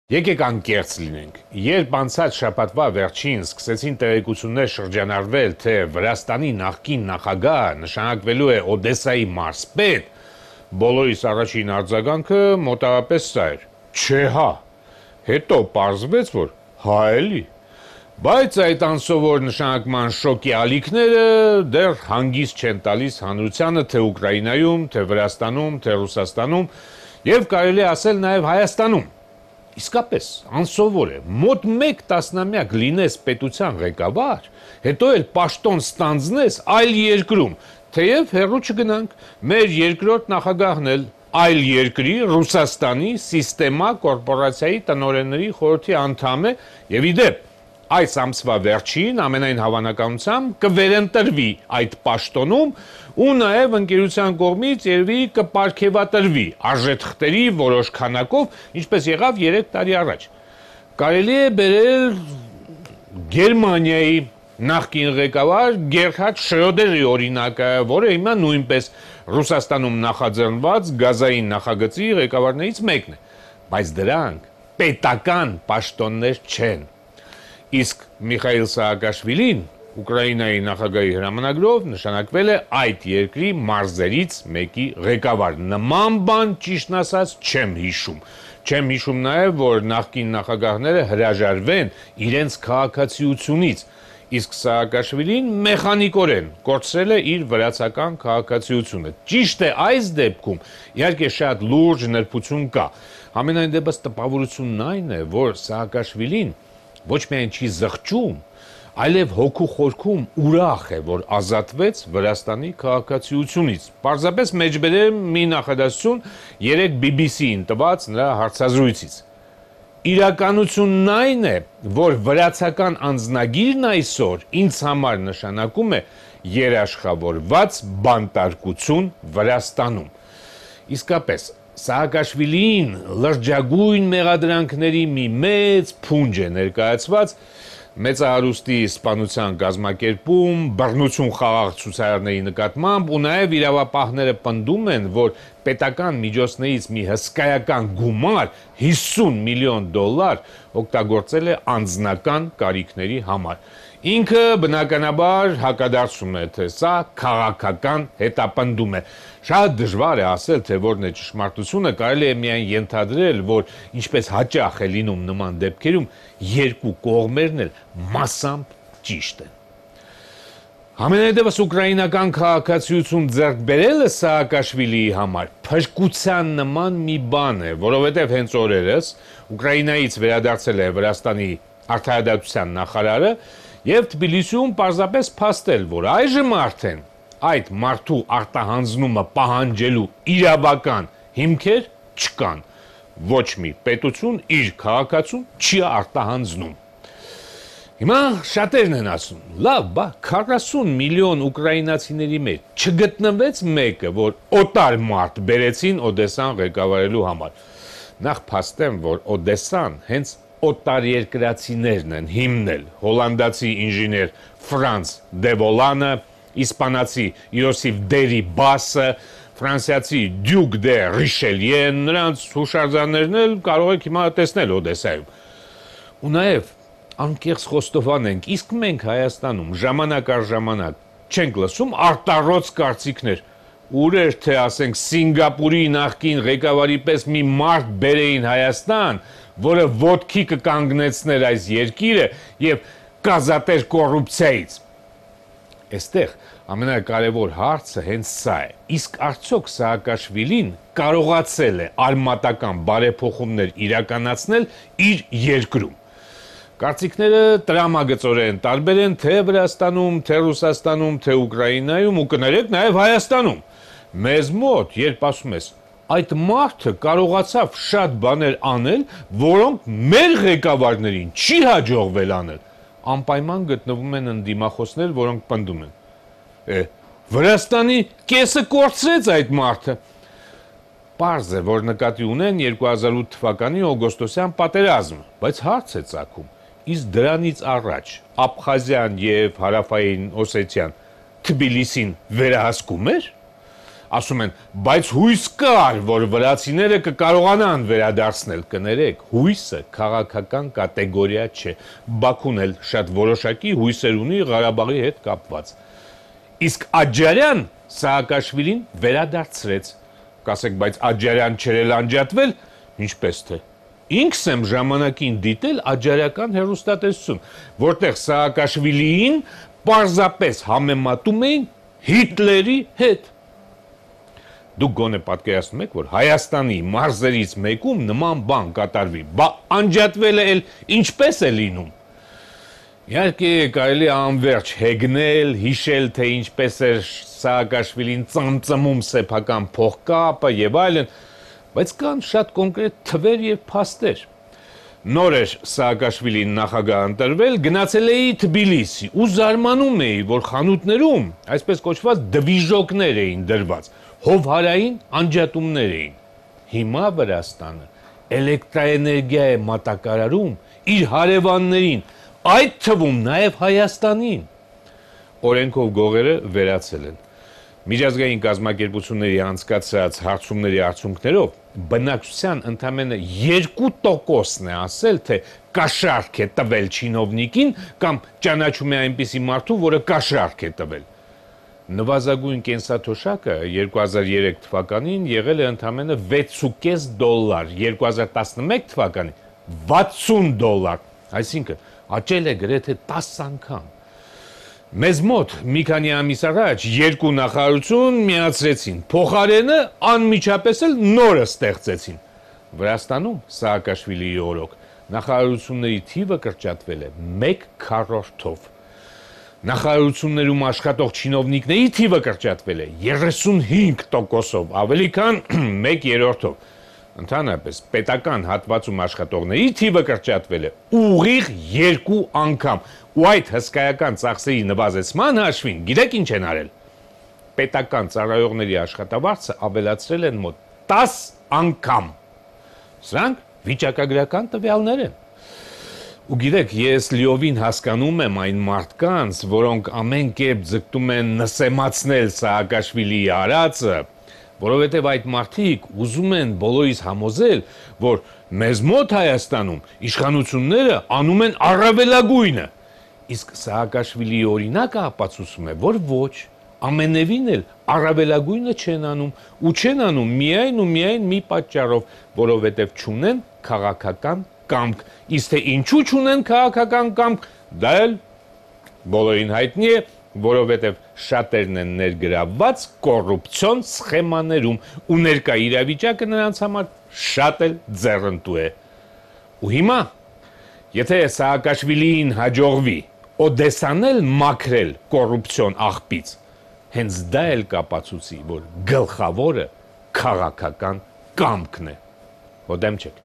Եկեք անկեղծ լինենք, երբ անցած շաբաթվա վերջին սկսեցին տեղեկություններ շրջանառվել, թե Վրաստանի նախկին նախագահ նշանակվելու է Օդեսայի մարզպետ, բոլորիս առաջին արձագանքը մոտավորապես սա էր. չէ հա, հետո պարզվեց, որ հա էլի, բայց այդ անսովոր նշանակման շոկի ալիքները դեռ հանգիստ չեն տալիս հանրությանը թե Ուկրաինայում, թե Վրաստանում, թե Ռուսաստանում եւ կարելի է ասել նաեւ Հայաստանում։ Իսկապես, անսովոր է, մոտ մեկ տասնամյակ լինես պետության ղեկավար, հետո էլ պաշտոն ստանձնես այլ երկրում, թեև հեռու չգնանք, մեր երկրորդ նախագահն էլ այլ երկրի Ռուսաստանի Սիստեմա կորպորացիայի տնօրենների խորհրդի անդամ է եւ իդեպ այս ամսվա վերջին ամենայն հավանականությամբ կվերընտրվի այդ պաշտոնում ու նաև ընկերության կողմից երևի կպարգևատրվի արժեթղթերի որոշ քանակով, ինչպես եղավ 3 տարի առաջ։ Կարելի է բերել Գերմանիայի նախկին ղեկավար Գերհարդ Շրոդերի օրինակը, որը հիմա նույնպես Ռուսաստանում նախաձեռնված գազային նախագծի ղեկավարներից մեկն է, բայց դրանք պետական պաշտոններ չեն։ Իսկ Միխայիլ Սաակաշվիլին Ուկրաինայի նախագահի հրամանագրով նշանակվել է այդ երկրի մարզերից մեկի ղեկավար։ Նման բան ճիշտն ասած չեմ հիշում։ Չեմ հիշում նաև, որ նախկին նախագահները հրաժարվեն իրենց քաղաքացիությունից, իսկ Սաակաշվիլին մեխանիկորեն կորցրել է իր վրացական քաղաքացիությունը։ Ճիշտ է, այս դեպքում իհարկե շատ լուրջ նրբություն կա։ Համենայն դեպս տպավորությունն այն է, որ Սաակաշվիլին ոչ միայն չի զղջում, այլև հոգու խորքում ուրախ է, որ ազատվեց Վրաստանի քաղաքացիությունից։ Պարզապես մեջբերեմ մի նախադասություն 3 BBC-ին տված նրա հարցազրույցից։ Իրականությունն այն է, որ վրացական անձնագիրն այսօր ինձ համար նշանակում է երաշխավորված բանտարկություն Վրաստանում։ Իսկապես, Սաակաշվիլին լրջագույն մեղադրանքների մի մեծ փունջ է ներկայացված, մեծահարուստի սպանության կազմակերպում, բռնություն խաղաղ ցուցարարների նկատմամբ ու նաև իրավապահները պնդում են, որ պետական միջոցներից մի հսկայական գումար 50 միլիոն դոլար օգտագործել է անձնական կարիքների համար։ Ինքը բնականաբար հակադարձում է, թե սա քաղաքական հետապնդում է։ Շատ դժվար է ասել, թե որն է ճշմարտությունը, կարելի է միայն ենթադրել, որ ինչպես հաճախ է լինում նման դեպքերում, երկու կողմերն էլ մասամբ ճիշտ են։ Համենայնդեպս ուկրաինական քաղաքացիություն ձեռք բերելը Սաակաշվիլիի համար փրկության նման մի բան է, որովհետև հենց օրերս Ուկրաինայից վերադարձել է Վրաստանի արդարադատության նախարարը եւ Թբիլիսիում պարզապես փաստել, որ այժմ արդեն այդ մարդու արտահանձնումը պահանջելու իրավական հիմքեր չկան։ Ոչ մի պետություն իր քաղաքացուն չի արտահանձնում։ Հիմա շատերն են ասում, լավ, բա 40 միլիոն ուկրաինացիների մեջ չգտնվեց մեկը, որ օտար մարդ բերեցին Օդեսան ղեկավարելու համար։ Նախ փաստեմ, որ Օդեսան հենց օտարերկրացիներն են հիմնել, հոլանդացի ինժեներ Ֆրանց Դևոլանը, իսպանացի Յոսիֆ Դերի Բասը, ֆրանսիացի Դյուկ դե Ռիշելիեն, նրանց հուշարձաններն էլ կարող եք հիմա տեսնել Օդեսայում։ Ու նաև անկեղծ խոստովանենք, իսկ մենք Հայաստանում ժամանակ առ ժամանակ չենք լսում արտառոց կարծիքներ, ուր էր թե ասենք Սինգապուրի նախկին ղեկավարի պես մի մարդ բերեին Հայաստան, որը ոտքի կկանգնեցներ այս երկիրը եւ կազատեր կոռուպցիայից։ Այստեղ ամենակարևոր հարցը հենց սա է։ Իսկ արդյոք Սաակաշվիլին կարողացել է արմատական բարեփոխումներ իրականացնել իր երկրում։ Կարծիքները տրամագծորեն տարբեր են թե Վրաստանում, թե Ռուսաստանում, թե Ուկրաինայում ու կներեք նաև Հայաստանում։ Մեզ մոտ, երբ ասում ես, այդ մարդը կարողացավ շատ բաներ անել, որոնք մեր ղեկավարներին չի հաջողվել անել, անպայման գտնվում են ընդդիմախոսներ, որոնք պնդում են։ Վրաստանի կեսը կորցրեց այդ մարդը։ Պարզ է, որ նկատի ունեն 2008 թվականի օգոստոսյան պատերազմը, բայց հարց է ծագում, իսկ դրանից առաջ Աբխազիան եւ Հարավային Օսետիան Թբիլիսին վերահսկում էր։ ասում են, բայց հույս կար, որ վրացիները կկարողանան վերադարձնել, կներեք, հույսը քաղաքական կատեգորիա չէ, Բաքուն էլ շատ որոշակի հույսեր ունի Ղարաբաղի հետ կապված, իսկ Աջարյան Սաակաշվիլին վերադարձրեց, կասեք, բայց Աջարյան չերել անջատվել, ինչպես թե, ինքս եմ ժամանակին դիտել աջարական հեռուստատեսություն, որտեղ Սաակաշվիլիին պարզապես համեմատում էին Հիտլերի հետ։ Դուք գոնե պատկերացնում եք, որ Հայաստանի մարզերից մեկում նման բան կատարվի, բա անջատվելը էլ ինչպես է լինում։ Իհարկե կարելի է անվերջ հեգնել, հիշել, թե ինչպես էր Սաակաշվիլին ծամծմում սեփական փողկապը եւ այլն, բայց կան շատ կոնկրետ թվեր եւ փաստեր։ Նոր էր Սաակաշվիլին նախագահ ընտրվել, գնացել էի Թբիլիսի ու զարմանում էի, որ խանութներում այսպես կոչված դվիժոկներ էին դրված, հովհարային անջատումներ էին։ Հիմա Վրաստանը էլեկտրաէներգիա է մատակարարում իր հարևաններին, այդ թվում նաև Հայաստանին։ Օրենքով գողերը վերացել են։ Միջազգային կազմակերպությունների անցկացրած հարցումների արդյունքներով բնակչության ընդամենը 2%-ն է ասել, թե կաշառք է տվել չինովնիկին կամ ճանաչում է այնպիսի մարդու, որը կաշառք է տվել։ Նվազագույն կենսաթոշակը 2003 թվականին եղել է ընդամենը $6.5, 2011 թվականին $60, այսինքն աճել է գրեթե 10 անգամ։ Մեզ մոտ մի քանի ամիս առաջ երկու նախարարություն միացրեցին, փոխարենը անմիջապես էլ նորը ստեղծեցին։ Վրաստանում Սաակաշվիլիի օրոք նախարարությունների թիվը կրճատվել է 1/4-ով։ Նախարարություններում աշխատող չինովնիկների թիվը կրճատվել է 35%-ով, ավելի քան 1/3-ով։ Ընդհանրապես պետական հատվածում աշխատողների թիվը կրճատվել է ուղիղ 2 անգամ, ու այդ հսկայական ծախսերի նվազեցման հաշվին գիտեք ինչ են արել։ Պետական ծառայողների աշխատավարձը ավելացրել են մոտ 10 անգամ։ Սրանք վիճակագրական տվյալներ են։ Ու գիտեք, ես լիովին հասկանում եմ այն մարդկանց, որոնք ամեն կերպ ձգտում են նսեմացնել Սաակաշվիլիի արածը, որովհետև այդ մարդիկ ուզում են բոլորիս համոզել, որ մեզ մոտ Հայաստանում իշխանությունները անում են առավելագույնը, իսկ Սաակաշվիլիի օրինակը ապացուցում է, որ ոչ, ամենևին էլ առավելագույնը չեն անում, ու չեն անում միայն ու միայն մի պատճառով, որովհետև չունեն քաղաքական կամք, իսկ թե ինչու չունեն քաղաքական կամք, դա էլ բոլորին հայտնի է, որովհետև շատերն են ներգրավված կոռուպցիոն սխեմաներում ու ներկա իրավիճակը նրանց համար շատ էլ ձեռնտու է։ Ու հիմա, եթե Սաակաշվիլիին հաջողվի Օդեսան էլ մաքրել կոռուպցիոն աղբից, հենց դա էլ կապացուցի, որ գլխավորը քաղաքական կամքն է։ Ո դեմ չեք։